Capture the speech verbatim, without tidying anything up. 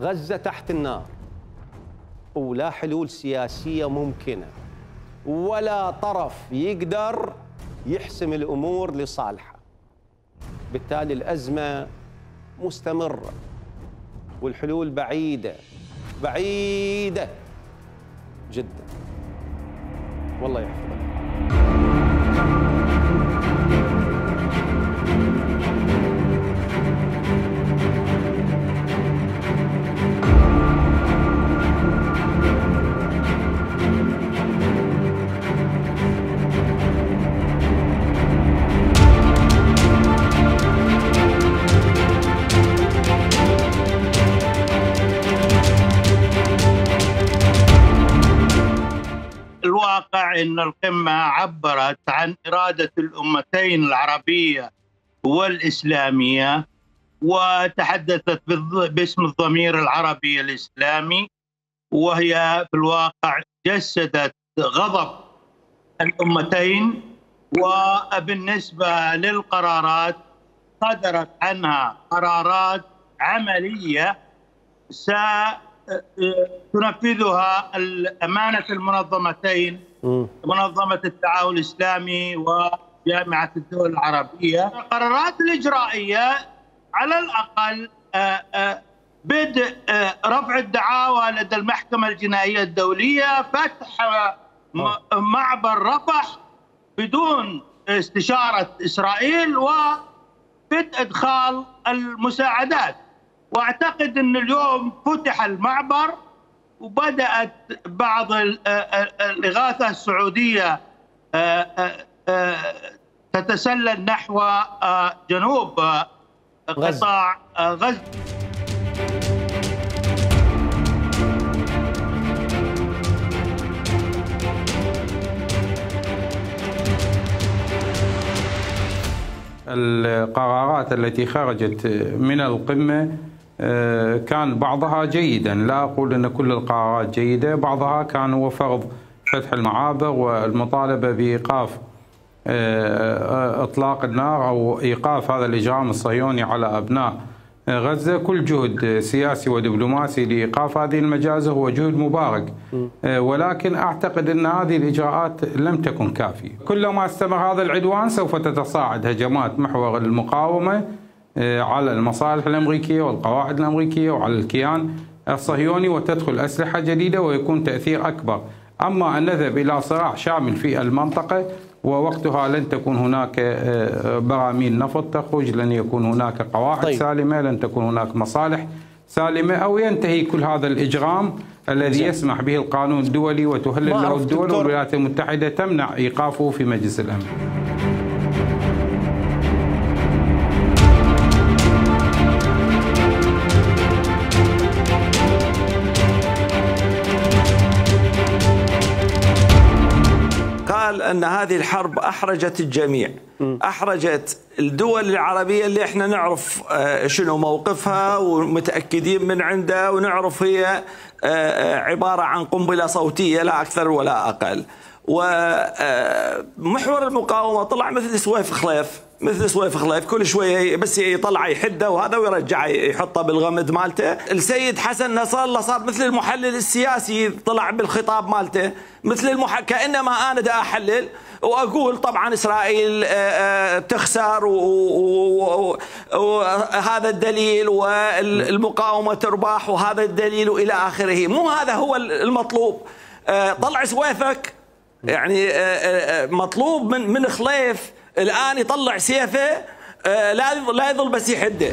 غزة تحت النار ولا حلول سياسية ممكنة ولا طرف يقدر يحسم الأمور لصالحه. بالتالي الأزمة مستمرة والحلول بعيدة بعيدة جدا. والله يحفظك. الواقع أن القمة عبرت عن إرادة الأمتين العربية والإسلامية، وتحدثت باسم الضمير العربي الإسلامي، وهي في الواقع جسدت غضب الأمتين. وبالنسبة للقرارات صدرت عنها قرارات عملية ستنفذها أمانة المنظمتين، منظمة التعاون الإسلامي وجامعة الدول العربية. القرارات الإجرائية على الأقل بدء رفع الدعاوى لدى المحكمة الجنائية الدولية، فتح معبر رفح بدون استشارة إسرائيل، وبدء إدخال المساعدات. واعتقد ان اليوم فتح المعبر وبدات بعض الاغاثه السعوديه تتسلل نحو جنوب قطاع غزه. القرارات التي خرجت من القمة كان بعضها جيدا، لا أقول أن كل القرارات جيدة، بعضها كان هو فرض فتح المعابر والمطالبة بإيقاف إطلاق النار أو إيقاف هذا الإجرام الصهيوني على أبناء غزة. كل جهد سياسي ودبلوماسي لإيقاف هذه المجازر هو جهد مبارك، ولكن أعتقد أن هذه الإجراءات لم تكن كافية. كلما استمر هذا العدوان سوف تتصاعد هجمات محور المقاومة على المصالح الأمريكية والقواعد الأمريكية وعلى الكيان الصهيوني، وتدخل أسلحة جديدة ويكون تأثير أكبر. أما أن نذهب إلى صراع شامل في المنطقة ووقتها لن تكون هناك براميل نفط تخرج، لن يكون هناك قواعد طيب. سالمة، لن تكون هناك مصالح سالمة، أو ينتهي كل هذا الإجرام الذي يسمح به القانون الدولي وتهلل له الدول، والولايات المتحدة تمنع إيقافه في مجلس الأمن. قال أن هذه الحرب أحرجت الجميع، أحرجت الدول العربية اللي احنا نعرف شنو موقفها ومتأكدين من عنده، ونعرف هي عبارة عن قنبلة صوتية لا أكثر ولا أقل. ومحور المقاومة طلع مثل سويف خليف، مثل سويف خليف كل شوية بس يطلع يحده وهذا ويرجع يحطه بالغمد مالته. السيد حسن نصر الله صار مثل المحلل السياسي، طلع بالخطاب مالته مثل المح... كأنما أنا دا أحلل وأقول طبعا إسرائيل تخسر وهذا الدليل، والمقاومة تربح وهذا الدليل وإلى آخره. مو هذا هو المطلوب. طلع سويفك، يعني مطلوب من من خليف الآن يطلع سيفه، لا لا يظل بس يحده.